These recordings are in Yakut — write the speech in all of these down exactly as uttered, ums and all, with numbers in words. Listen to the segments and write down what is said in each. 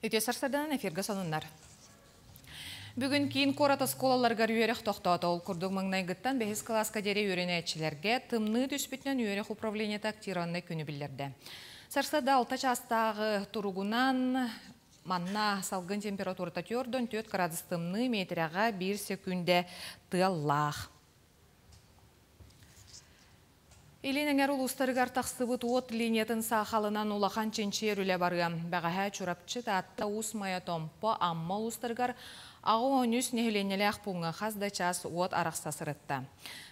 Үтүө сарсыарданан, эфиргэ сонуннар. Бүгүн киин куорат оскуолаларыгар үөрэх тохтоото. Ол курдук маҥнайгыттан бэһис кылааска диэри үөрэнээччилэргэ тымныы түспүтүнэн үөрэх управлениета актированнай күнү биллэрдэ. Сарсыарда алта чаастааҕы туругунан манна салгын температурата түөрт уон түөрт градус тымныы, метрэҕэ биир секунда тыаллаах. Илин эҥэр улуустарыгар тахсыбыт уот линиятын саахалынан улахан чинчийэр үлэ барыа. Бэҕэһээ Чурапчы, Таатта, Уус Майа, Томпо, Амма улуустарыгар аҕыс уон үс нэһилиэнньэлээх пууҥҥа хас да чаас уот арахса сырытта.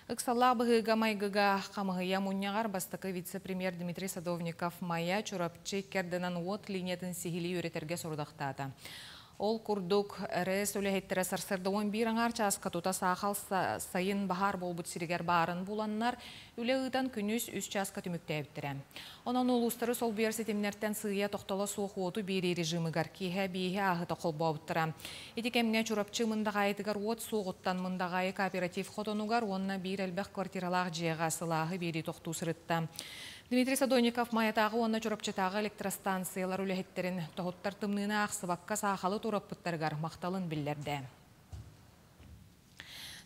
Ыксаллаах быһыыга-майгыга хамыыһыйа мунньаҕар бастакы вице-премьер Дмитрий Садовников Майа, Чурапчы икки ардынан уот линиятын сиһилии үөрэтэргэ сорудахтаата. Ол курдук, Р Э С үлэһиттэрэ сарсыарда он биир аҥаар чааска тута саахал сайын баһаар буолбут сиригэр баарын буланнар, үлэ ыытан күнүс үс чааска түмүктээбиттэрэ. Онон улуустары солбуйар ситимнэртэн сыыйа тохтоло суох уоту биэрии режимигэр киэһэ биэһи ааһыыта холбообуттара. Ити кэмҥэ Чурапчы Мындаҕаайытыгар уот суоҕуттан Мындаҕаайы кооператив хотонугар уонна биир элбэх квартиралаах дьиэҕэ сылааһы биэрии тохтуу сырытта. Дмитрий Садовников Майатааҕы уонна Чурапчытааҕы электростанциялар үлэһиттэрин тоһуттар тымныыны аахсыбакка саахалы туораппыттарыгар махталын биллэрдэ.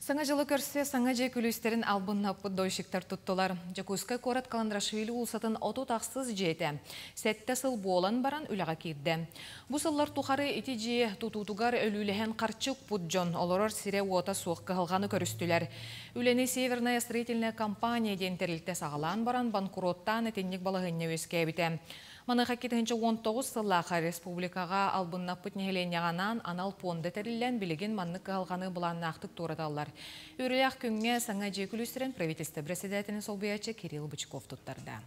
Саҥа дьылы көрсө саҥа дьиэ күлүүстэрин албыннаппыт дольщиктар туттулар. Дьокуускай куорат Каландарашвили уулуссатын отут ахсыс дьиэтэ сэттэ сыл буолан баран үлэҕэ киирдэ. Бу сыллар тухары ити дьиэ тутуутугар өлүүлэһэн харчы укпут дьон олорор сирэ уота суох кыһалҕаны көрүстүлэр. Үлэни Северная строительная компания диэн тэрилтэ саҕалаан баран банкроттаан итинник балаһыанньа үөскээбитэ. Маныаха икки тыһыынча уон тоҕус сыллаахха республикаҕа албыннаппыт нэһилиэнньэҕэ анаан анал пуонда тэриллэн билигин маннык кыһалҕаны былааннаахтык туораталлар. Үөрүүлээх күҥҥэ саҥа дьиэ күлүүстэрин правительство председателин солбуйааччы Кирилл Бычков туттарда.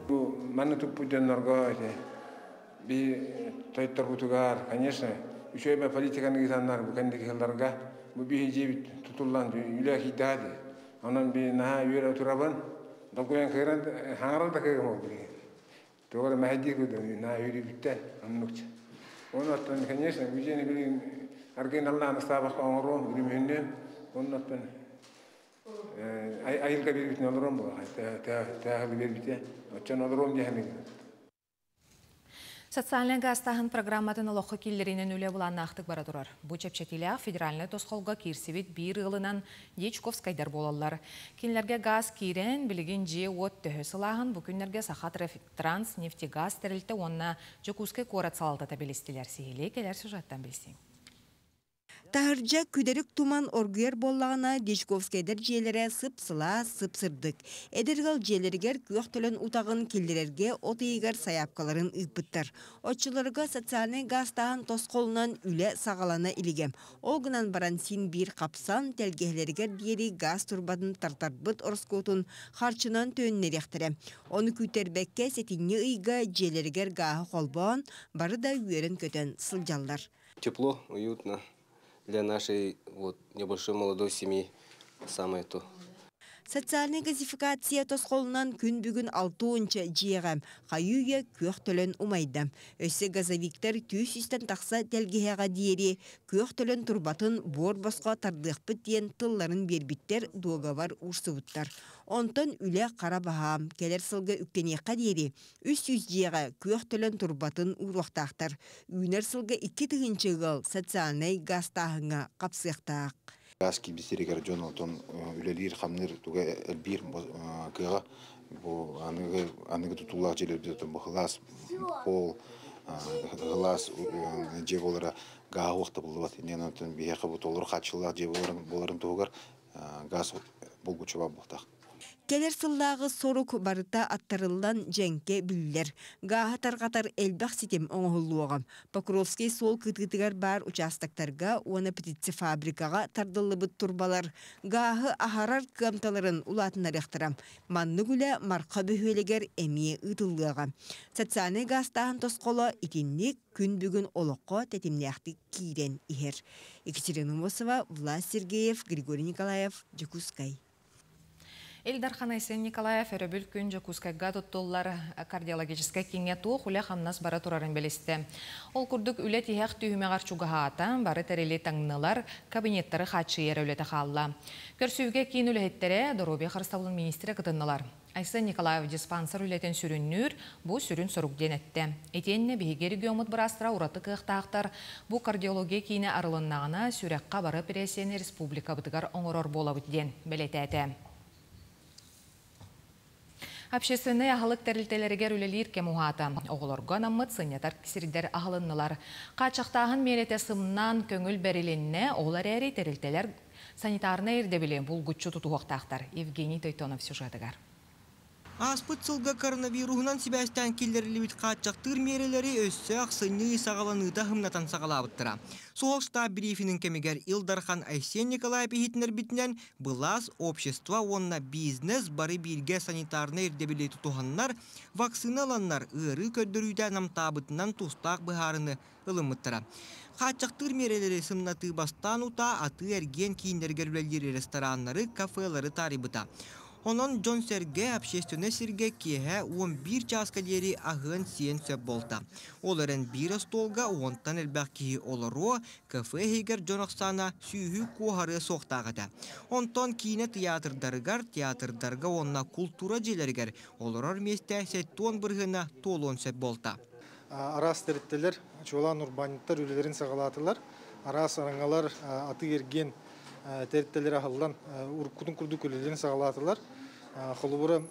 Бу манна туппут дьоннорго би тойотторбутугар, конечно, үчүгэй политиканы ыытаннар бу кэнники сылларга бу биһи дьиэбит тутуллан үлэ киирдэҕэ. Онон би наһаа үөрэ турабын, долгуйан кыыран хаҥарар да кыаҕым ол билигин. Туох эрэ мэһэйдиир курдук наһаа үөрүүбүттэн оннукча. Онон, конечно, бу дьиэни билигин аргыый наллаан ыстаабакка оҥоруом, үрүмүһүннүөм. Оннуттан айылга биэрбитин олоруом буолар. Тээхили биэрбите. Оччон олоруом диэхэмин. Социальнай гаастааһын программатын олоххо киллэриинэн үлэ былааннаахтык бара турар. Бу чэпчэтиилээх федеральнай тосхолго киирсибит биир ыалынан Дьячковскайдар буолаллар. Кинилэргэ гаас киирэн, билигин дьиэ уот төһө сылааһын бу күннэргэ Саха Транс нефтегаз тэрилтэ уонна Дьокуускай куорат салалтата билистилэр. Сиһилии кэлэр сюжеттан билсиҥ. Таһырдьа күдэрик туман оргуйар буоллаҕына, Дьячковскайдар дьиэлэрэ сып-сылаас, сып-сырдык. Эдэр ыал дьиэлэригэр күөх төлөн утаҕын киллэрэргэ от ыйыгар сайаапкаларын ыыппыттар. Оччолорго социальнай гаастааһын тосхолунан үлэ саҕалана илигэ. Ол гынан баран син биир хапсан, тэлгэһэлэригэр диэри гаас турбатын тартарбыт ороскуотун харчынан төннөриэхтэрэ. Ону күүттэрбэккэ сэтинньи ыйга дьиэлэригэр гааһы холбоон, бары да үөрэн көтөн сылдьаллар. Тепло, уютно. Для нашей вот небольшой молодой семьи самое то. Социальнай газификация тосхолунан күн бүгүн алта уонча дьиэҕэ хайыы-үйэ күөх төлөн умайда. Өссө газовиктар түөрт сүүстэн тахса тэлгэһэҕэ диэри күөх төлөн турбатын буор босхо тардыахпыт диэн тылларын биэрбиттэр, дуогабар уурсубуттар. Онтон үлэ хара баһаам, кэлэр сылга үктэниэххэ диэри үс сүүс дьиэҕэ күөх төлөн турбатын ууруохтаахтар. Үүнэр сылга икки тыһыынча ыал социальнай гаастааһыҥҥа хапсыахтаах. Гаас киирбит дьон онтон үлэлиир, хамныыр туга элбиир кыаҕа бу аныгы аныгы тутуулаах дьиэлэрбит бу сылаас пол, сылаас дьиэ буолара гааһа суох табыллыбат. Инньэ онтон биһиэхэ бу толору хааччыллаах дьиэ буоларын буоларын туһугар гаас булгуччу баар буолуохтаах. Кэлэр сыллааҕы сорук барыта аттарыллан дьэҥкэ биллэр. Гааһы тарҕатар элбэх ситим оҥоһуллуоҕа. Покровский суол кытыытыгар баар участоктарга уонна птицефабрикаҕа тардыллыбыт турбалар гааһы аһарар кыамталарын улаатыннарыахтара. Маннык үлэ Марха бөһүөлэгэр эмиэ ыытыллыаҕа. Социальнай гаастааһын тосхоло итинник күн бүгүн олоххо тэтимнээхтик киирэн иһэр. Екатерина Мосова, Влас Сергеев, Григорий Николаев, Дьокуускай. Ил Дархан Айсен Николаев өрөбүл күн Дьокуускайга туттуллар кардиологическай кииҥҥэ туох үлэ-хамнас бара турарын билистэ. Ол курдук үлэ тиһэх түһүмэҕэр чугаһаата, бары тэрили таҥнылар, кабинеттары хааччыйар үлэтэ хаалла. Көрсүһүүгэ киин үлэһиттэрэ, доруобуйа харыстабылын министрэ кытыннылар. Айсен Николаев диспансер үлэтин сүрүннүүр, бу сүрүн сорук диэн эттэ. Итиэннэ биһиги региоммут быраастара ураты кыахтаахтар, бу кардиология киинэ арылыннаҕына сүрэххэ бары эпэрээссийэни республикабытыгар оҥорор буолабыт диэн бэлиэтээтэ. Общественнай аһылык тэрилтэлэригэр үлэлиир кэм уһаата. Оҕолорго анаммыт сынньатар сирдэр аһылыннылар. Хааччахтааһын миэрэтэ сымнаан көҥүл бэрилиннэ, ол эрээри тэрилтэлэр санитарнай ирдэбили булгуччу тутуһуохтаахтар. Евгений Тойтонов сюжетыгар. Ааспыт сылга коронавируһунан сибээстээн киллэриллибит хааччахтыыр миэрэлэри өссө ахсынньы саҕаланыыта сымнатан саҕалаабыттара. Суһал штаб брифинин кэмигэр Ил Дархан Айсен Николаев иһитиннэрбитинэн, былаас, общество уонна бизнес бары бииргэ санитарнай ирдэбили тутуһаннар, вакцина ыланнар ыарыы көрдөрүүтэ намтаабытынан тустаах быһаарыны ылыммыттара. Хааччахтыыр миэрэлэри сымнатыы бастаан утаа атыы-эргиэн кииннэригэр үлэлиир рестораннары, кафелары таарыйбыта. Онон дьон-сэргэ общественнай сиргэ киэһэ уон биир чааска диэри аһыан-сиэн сөп буолта. Ол эрэн биир остуолга уонтан элбэх киһи олоруо, кафе иһигэр дьон ахсаана сүүһү куоһарыа суохтаах этэ. Онтон киинэ тыйаатырдарыгар, театрдарга уонна култуура дьиэлэригэр олорор миэстэ сэттэ уон бырыһыана туолуон сөп буолта. Араас тэрилтэлэр, чуолаан урбаанньыттар үлэлэрин саҕалаатылар. Араас араҥалар, атыы-эргиэн тэрилтэлэр аһыллан уруккутун курдук үлэлэрин саҕалаатылар. Холобура,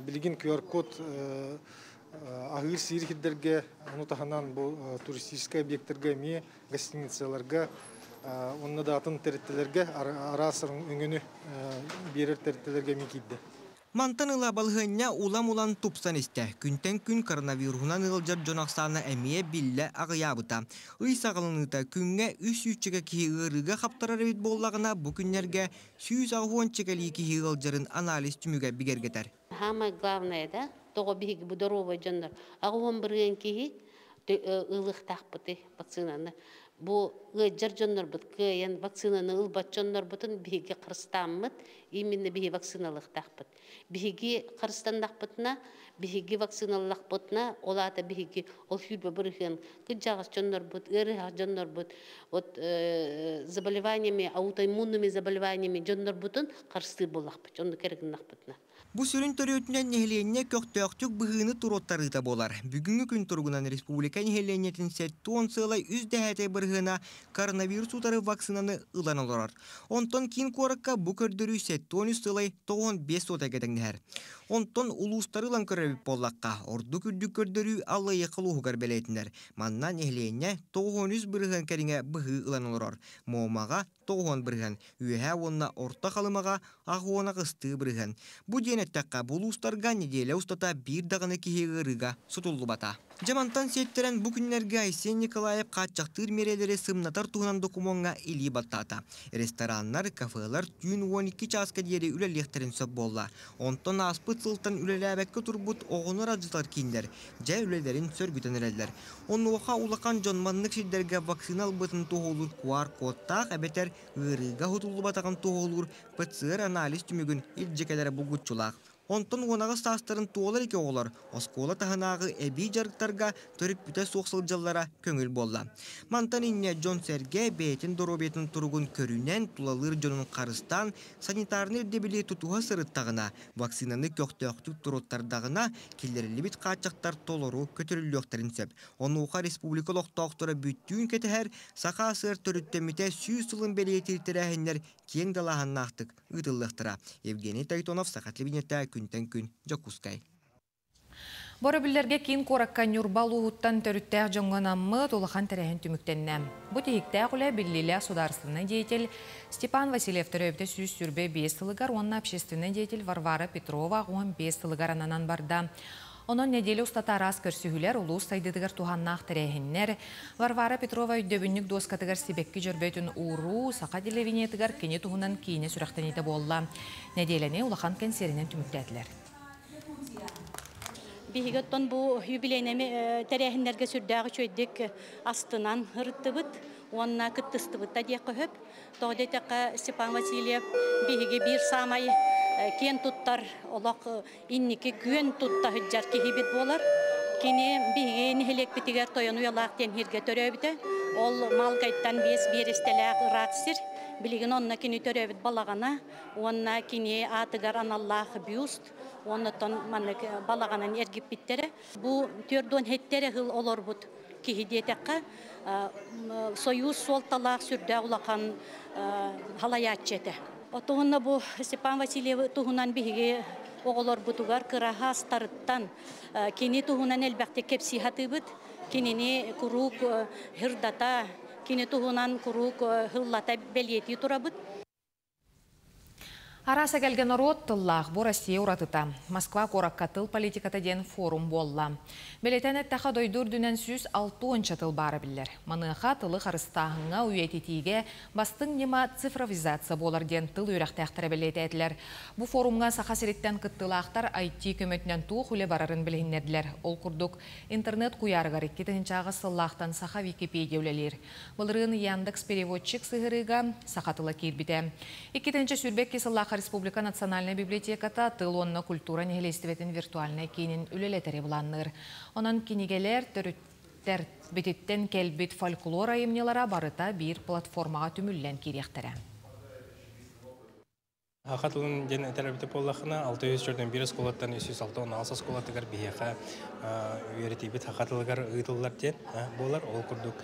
билигин Q R-код аһыыр сиир сирдэргэ, ону таһынан бу туристическай объектарга эмиэ, гостиницаларга, онно да атын тэрилтэлэргэ, араас өҥөнү биэрэр тэрилтэлэргэ эмиэ киирдэ. Мантан ыла балыһыанньа улам-улам тупсан истэ. Күнтэн күн коронавируһунан ыалдьар дьон ахсаана эмиэ биллэ аҕыйаабыта. Ый саҕаланыыта күҥҥэ үс сүүсчэкэ киһи ыарыыга хаптарар эбит буоллаҕына, бу күннэргэ сүүс аҕыс чэкэлии киһи ыалдьарын анализ түмүгэ бигэргэтэр. Самое главное, да, тоҕо биһиги бу здоровый дьоннор аҕыс бырыан киһи ылыахтаахпыты вакцинаны. Бу ыалдьар дьоннорбут кыайан вакцинаны ылбат дьоннорбутун биһиги харыстааммыт, именно биһи вакциналыахтаахпыт. Биһиги харыстаннахпытына, биһиги вакциналлахпытына, ол аата биһиги ол сүүрбэ бырыһыан кыдьаҕас дьоннорбут, ыарыһах дьоннорбут, вот заболеваниями, аутоиммунными заболеваниями дьоннорбутун харыстыыр буоллахпыт, онну кэргиннахпытына. Бу сүрүн төрүөтүнэн нэһилиэнньэ көхтөөхтүк быһыыны туруоттарыыта буолар. Бүгүҥҥү күн туругунан республика нэһилиэнньэтин сэттэ уон сыалай үс дэһээтэй бырыһыана коронавирус утары вакцинаны ылан олорор. Онтон киин куоракка бу көрдөрүү сэттэ уон үс сыалай тоҕус уон биэс суота кэтэҥнэһэр. Онтон улуустары ылан көрөбүт буоллахха, ордук үрдүк көрдөрүү Аллайыаха улууһугар бэлиэтинэр. Манна нэһилиэнньэ тоҕус уон үс бырыһыан кэриҥэ быһыы ылан олорор. Муомаҕа тоҕус уон бырыһыан, Үөһээ уонна Орто Халымаҕа аҕыс уон аҕыстыы бырыһыан. Бу диэн эттэххэ, бу улуустарга нэдиэлэ устата биир даҕаны киһи ыарыыга сутуллубата. Дьэ мантан сиэттэрэн бу күннэргэ Айсен Николаев хааччахтыыр миэрэлэри сымнатар туһунан докумуоҥҥа илии баттаата. Рестораннар, кафелар түүн уон икки чааска диэри үлэлиэхтэрин сөп буолла. Онтон ааспыт сылтан үлэлээбэккэ турбут оҕонор адьытар кииннэр дьэ үлэлэрин сөргүтэн эрэллэр. Онуоха улахан дьон маннык сирдэргэ вакцина ылбытын туһулуур Q R-кодтаах эбэтэр ыарыыга хутуллубатаҕын туһулуур П Ц Р анализ түмүгүн илдьикэлэрэ булгуччулаах. Онтон уонаҕыс саастарын туолар ики оҕолор оскуола таһынааҕы эбии дьарыктарга төрүппүтэ суох сылдьаллара көҥүл буолла. Мантан инньэ дьон сэргэ бэйэтин доруобуйатын туругун көрүнэн тулалыыр дьонун харыстаан санитарнай ирдэбили тутуһа сырыттаҕына, вакцинаны көхтөөхтүк туруттардаҕына киллэриллибит хааччахтар толору көтөрүллүөхтэрин сөп. Онуоха республика олохтоохторо бүттүүн кэтэһэр Саха сыр төрүттэммитэ сүүс сылын бэлиэтиир тэрээһиннэр киэҥ далааһыннаахтык ыытыллыахтара. Евгений Тайтонов, Саха телевидениетэ, күнтэн күн, Дьокуускай. Боробүллэргэ киин куоракка Ньурба улууһуттан төрүттээх дьоҥҥо анаммыт улахан тэрээһин түмүктэннэ. Бу тиһиктээх үлэ биллиилээх судаарыстыбаннай деятель Степан Васильев төрөөбүтэ сүүс сүүрбэ биэс сылыгар уонна общественнай деятель Варвара Петрова уон биэс сылыгар ананан барда. Онон неделя устата араас көрсүһүүлэр улуус сайдыытыгар туһаннаах тэрээһиннэр, Варвара Петрова өйдөбүнньүк дуоскатыгар сибэкки дьөрбөтүн ууруу, Саха телевидениетыгар кини туһунан киинэ сүрэхтэниитэ буолла. Неделяны улахан кэнсиэринэн түмүктээтилэр. Биһиги оттон бу юбилейнеми тэрээһиннэргэ сүрдээҕи үчүгэйдик астынан ырыттыбыт уонна кыттыстыбыт да диэххэ сөп. Тоҕо диэтэххэ, Степан Васильев биһиги биир саамай Киэн туттар олох инники күөн тутта сылдьар киһибит буолар. Кини биһиги нэһилиэкпитигэр Тойон Уйалаах диэн сиргэ төрөөбүтэ. Ол Малгайттан биэс биэрэстэлээх ыраах сир. Билигин онно кини төрөөбүт балаҕана, уонна кини аатыгар аналлаах бюст, оннотон маннык балаҕанын эргиппиттэрэ. Бу түөрт уон сэттэ эрэ сыл олорбут киһи диэтэххэ, Союз суолталаах сүрдээх улахан халайааччы этэ. Отуһунна бу Степан Васильев туһунан биһиги оҕолорбутугар кыра саастарыттан кини туһунан элбэхтик кэпсии сатыыбыт, кинини куруук сырдата, кини туһунан куруук сыллата бэлиэтии турабыт. Араас эгэлгэ норуот тыллаах бу Россия уратыта. Москва куоракка тыл политиката диэн форум буолла. Бэлиэтээн эттэххэ, дойду үрдүнэн сүүс алта уонча тыл баара биллэр. Маныаха тылы харыстааһыҥҥа, үйэтитиигэ бастыҥ ньыма цифровизация буолар диэн тыл үөрэхтээхтэрэ бэлиэтээтилэр. Бу форумҥа Саха сириттэн кыттыылаахтар I T көмөтүнэн туох үлэ барарын билиһиннэрдилэр. Ол курдук, интернет куйаарыгар икки тыһыынча сыллаахтан Саха Википедия үлэлиир. Былырыын Яндекс переводчик сыһыарыыга саха тыла киирбитэ. Икки тыһыынча сүүрбэ сыллаахха Республика национальнай библиотеката тыл уонна культура нэһилиэстибэтин виртуальнай киинин үлэлэтэри былаанныыр. Онон кинигэлэр, төрүттэрбититтэн кэлбит фольклор айымньылара барыта биир платформаҕа түмүллэн киириэхтэрэ. Саха тылын диэн этэр эбит буоллаххына, алта сүүс түөрт уон биир оскуолаттан үс сүүс алта уон алта оскуолатыгар биһиэхэ үөрэтиибит саха тылыгар ыытыллар диэн буолар. Ол курдук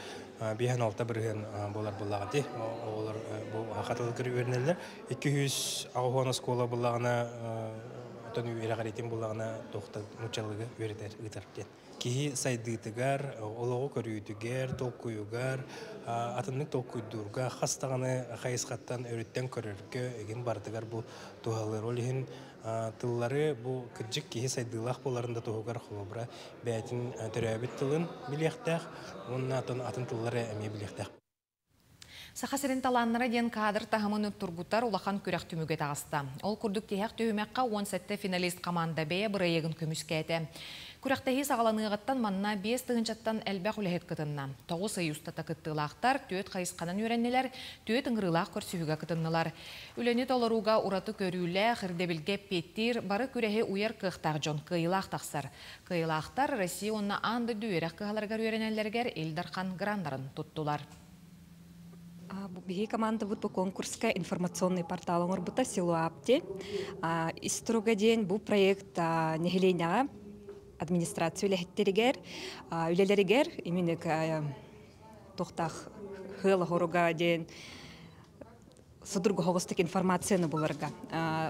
биэс уон алта бырыһыан буолар буоллаҕа дии. Оҕолор бу саха тылыгар үөрэнэллэр. икки сүүс аҕыс уон оскуола буоллаҕына, оттон үөрэҕириитин буоллаҕына туохта нууччалыыга үөрэтэр ыытар диэн. Киһи сайдыытыгар, олоҕу көрүүтүгэр, толкуйугар, атыннык толкуйдуурга, хас даҕаны хайысхаттан өрүттэн көрөргө эгин барытыгар бу туһалыыр. Ол иһин тыллары бу кырдьык киһи сайдыылаах буоларын да туһугар холобура бэйэтин төрөөбүт тылын билиэхтээх, уонна атын атын тыллары эмиэ билиэхтээх. Саха сирин талааннара диэн кадр таһымын тургутар улахан күрэх түмүгэ таҕыста. Ол курдук тиһэх түһүмэххэ он сэттэ финалист команда бэйэ бырайыагын көмүскээтэ. Күрэхтэһии саҕаланыаҕыттан манна биэс тыһыынчаттан элбэх үлэһит кытынна. Тоҕус ый устата кыттыылаахтар түөрт хайысханан үөрэннилэр, түөрт ыҥырыылаах көрсүһүүгэ кытыннылар. Үлэни толорууга ураты көрүүлээх, ирдэбилгэ эппиэттиир, бары күрэһи уйар кыахтаах дьон кыайыылаах тахсар. Кыайыылаахтар Россия уонна аан дойду үөрэх кыһаларыгар үөрэнэллэригэр Ил Дархан граннарын туттулар. Биһиги командабыт бу конкурска информационный портал оҥорбута, Силуапти. Ис туруга диэн бу проект нэһилиэнньэҕэ администрация үлэһиттэригэр, үлэлэригэр именно туохтаах сыала хоруга диэн судургу соҕустук информацияны буларга.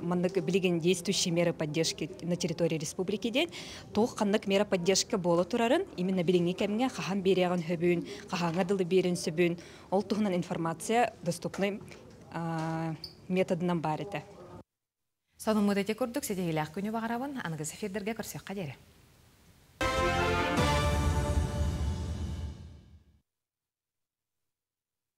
Маннык билигин действующие меры поддержки на территории республики диэн туох ханнык мера поддержка буола турарын, именно билиҥҥи кэмҥэ хаһан биэриэҕин сөбүн, хаһааҥҥа дылы биэрин сөбүн, ол туһунан информация доступный методынан баар этэ. Сонуммут ити курдук, ситиһиилээх күнү баҕарабын, аныгыс эфирдэргэ көрсүөххэ диэри.